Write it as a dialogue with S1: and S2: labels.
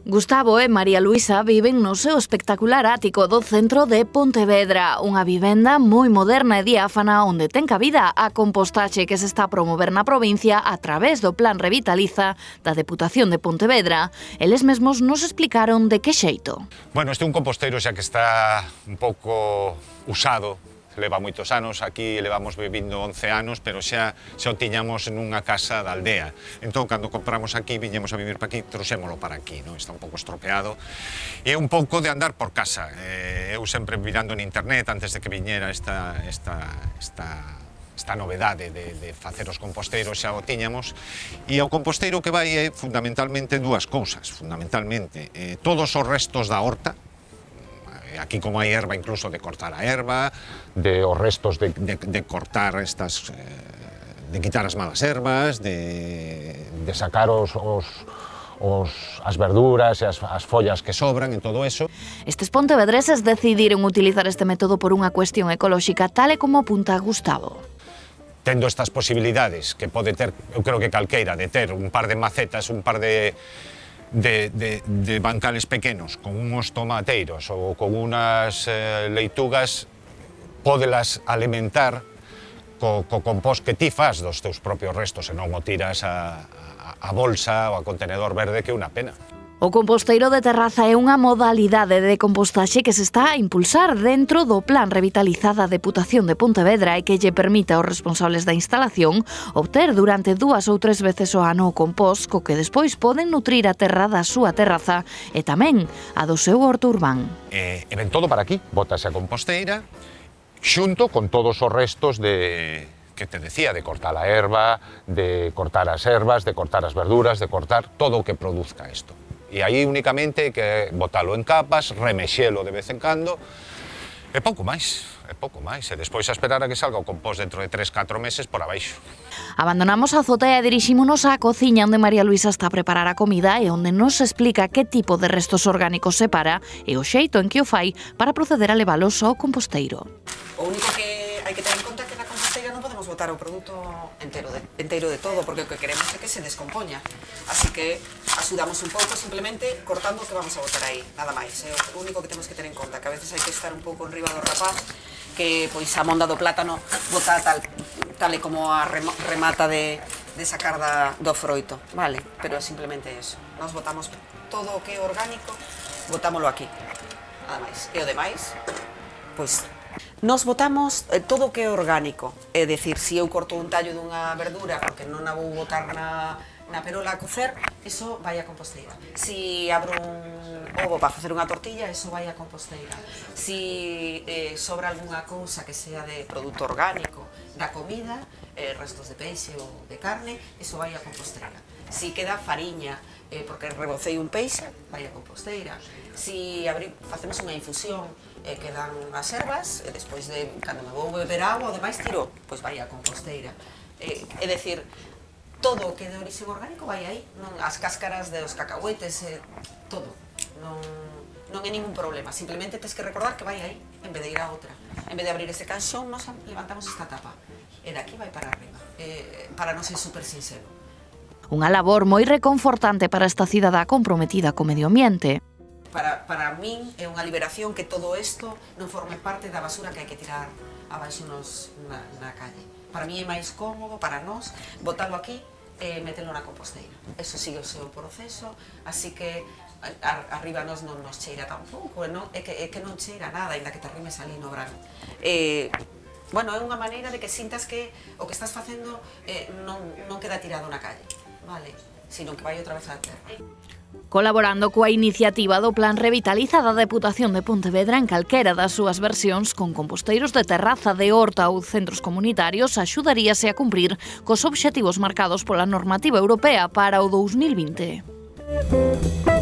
S1: Gustavo e María Luisa viven no seu espectacular ático do centro de Pontevedra, unha vivenda moi moderna e diáfana onde ten cabida a compostaxe que se está a promover na provincia a través do Plan Revitaliza da Deputación de Pontevedra. Eles mesmos nos explicaron de que xeito.
S2: Bueno, este é un composteiro xa que está un pouco usado, leva moitos anos, aquí levamos vivindo 11 anos, pero xa o tiñamos nunha casa da aldea. Entón, cando compramos aquí, viñemos a vivir para aquí, trouxémolo para aquí, non? Está un pouco estropeado. E é un pouco de andar por casa. Eu sempre mirando en internet, antes de que viñera esta novedade de facer os composteiros, xa o tiñamos. E o composteiro que vai é fundamentalmente dúas cousas. Fundamentalmente, todos os restos da horta, aquí como hai erva, incluso de cortar a erva, os restos de cortar estas, de quitar as malas ervas, de sacar as verduras e as follas que sobran e todo eso.
S1: Estes pontevedreses decidiron utilizar este método por unha cuestión ecolóxica, tal e como apunta Gustavo.
S2: Tendo estas posibilidades que pode ter, eu creo que calqueira, de ter un par de macetas, un par de bancales pequenos con uns tomateiros ou con unas leitugas, pódelas alimentar co compost que ti fas dos teus propios restos e non o tiras a bolsa ou a contenedor verde, que é unha pena.
S1: O composteiro de terraza é unha modalidade de compostaxe que se está a impulsar dentro do Plan Revitaliza da Deputación de Pontevedra e que lle permite aos responsables da instalación obter durante 2 ou 3 veces ao ano o compost co que despois poden nutrir a terra da súa terraza e tamén a do seu horto urbán.
S2: E ven todo para aquí, bótase a composteira xunto con todos os restos que te decía, de cortar a erva, de cortar as ervas, de cortar as verduras, de cortar todo o que produzca isto. E aí únicamente que botalo en capas, remexelo de vez en cando, e pouco máis, e despois a esperar a que salga o compost dentro de 3-4 meses por abaixo.
S1: Abandonamos a azotea e dirixímonos á cociña onde María Luisa está a preparar a comida e onde nos explica que tipo de restos orgánicos separa e o xeito en que o fai para proceder a levalos ao composteiro.
S3: O único que hai que ter en conta é que na composteira non podemos botar o produto enteiro de todo, porque o que queremos é que se descompoña. Así que axudamos un pouco simplemente cortando o que vamos a botar aí, nada máis. É o único que temos que ter en conta, que a veces hai que estar un pouco enriba do rapaz, que pois a monda do plátano bota tal e como a remata de sacar do froito, vale? Pero é simplemente eso. Nos botamos todo o que é orgánico, botámoslo aquí, nada máis. E o demais, pois nos botamos todo o que é orgánico, é dicir, se eu corto un tallo dunha verdura porque non a vou botar na perola a cocer, iso vai a composteira. Se abro un ovo para facer unha tortilla, iso vai a composteira. Se sobra algunha cousa que sea de produto orgánico da comida, restos de peixe ou de carne, iso vai a composteira. Se queda fariña porque rebocei un peixe, vai a composteira. Se facemos unha infusión, quedan as ervas, e despois de, cando me vou beber agua, o demais tiro, pois vai a composteira. É dicir, todo o que é de orixe orgánico vai aí, as cáscaras dos cacahuetes, todo. Non é ningún problema, simplemente tens que recordar que vai aí, en vez de ir a outra. En vez de abrir ese canxón, nos levantamos esta tapa, e daqui vai para arriba, para non ser super sincero.
S1: Unha labor moi reconfortante para esta cidadá comprometida co medio ambiente.
S3: Para min é unha liberación que todo isto non forme parte da basura que hai que tirar abaixo na calle. Para mí é máis cómodo, para nós, botalo aquí e metelo na composteira. Eso sigue o seu proceso, así que arriba nos non nos cheira tampouco, é que non cheira nada, ainda que te arrimes ali no brano. Bueno, é unha maneira de que sintas que o que estás facendo non queda tirado na calle, vale? Sino que vai outra vez á terra.
S1: Colaborando coa iniciativa do Plan Revitaliza da Deputación de Pontevedra en calquera das súas versións, con composteiros de terraza, de horta ou centros comunitarios, axudaríase a cumprir cos obxectivos marcados pola normativa europea para o 2020.